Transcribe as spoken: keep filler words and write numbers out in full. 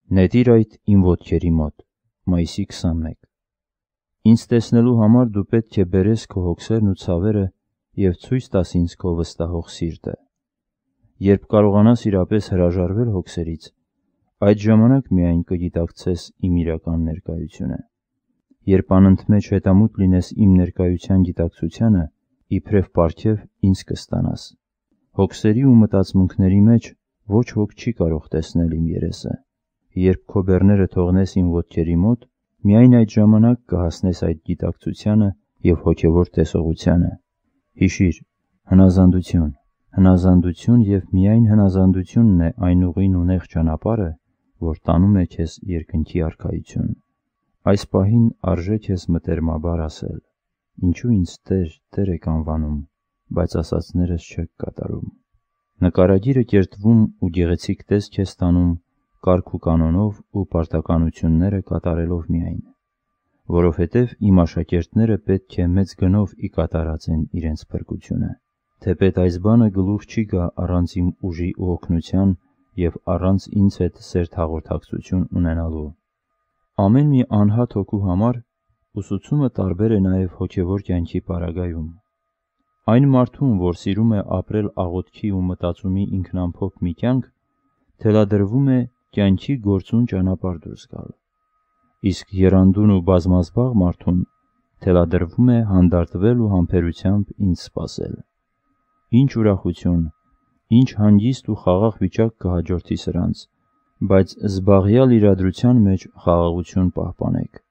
Նետիր այդ իմ ոտքերի մոտ։ Մայիսի քսանմեկ։ Ինձ տեսնելու համար դու պետք է բերես քո հոգսերն ու ցավերը և ցույց տաս ինձ քո վստահող սիրտը։ Երբ կարողանաս իրապես հրաժարվել հոգսերից, այդ ժամանակ միայն կգիտակցես իմ իրական ներկայությունը։ Երբ անընդմեջ հետամուտ լինես իմ ներկայության գիտակցությանը, իբրև պարգև ինձ կստանաս։ Հոգսերի ու մտածմունքների մեջ ոչ ոք չի կարող տեսնել իմ երեսը։ Երբ քո բեռները թողնես իմ ոտքերի մոտ, միայն այդ ժամանակ կհասնես այդ գիտակցությանը և հոգևոր տեսողությանը։ Հիշիր, հնազանդություն, հնազանդություն և միայն հնազանդությունն է այն ուղին ու նեղ ճանապարհը, որ տանում է քեզ երկնքի արքայություն։ Այս պահին արժե քեզ մտերմաբար ասել. ինչու ինձ Տեր, Տեր եք անվանում, բայց ասածներս չեք կատարում։ Նկարագիրը կերտվում ու գեղեցիկ տեսք է ստանում կարգ ու կանոնով ու պարտականությունները կատարելով միայն, որովհետև իմ աշակերտները պետք է մեծ գնով ի կատարածեն իրենց փրկությունը, թեպետ այս բանը գլուխ չի գա առանց իմ ուժի ու օգնության և առանց ինձ հետ սերտ հաղորդակցություն ունենալու։ Ամեն մի անհատ հոգու համար ուսուցումը տարբեր է նաև հոգևոր կյանքի պարագայում։ Այն մարդուն, որ սիրում է ապրել աղոթքի ու մտածումի ինքնամփոփ մի կյանք, թելադրվում է կյանքի գործուն ճանապարհ դուրս գալ, իսկ եռանդուն ու բազմազբաղ մարդուն թելադրվում է հանդարտվել ու համբերությամբ ինձ սպասել։ Ինչ ուրախություն, ինչ հանգիստ ու խաղաղ վիճակ կհաջորդի սրանց, բայց զբաղյալ իրադրության մեջ խաղաղություն պահպանեք։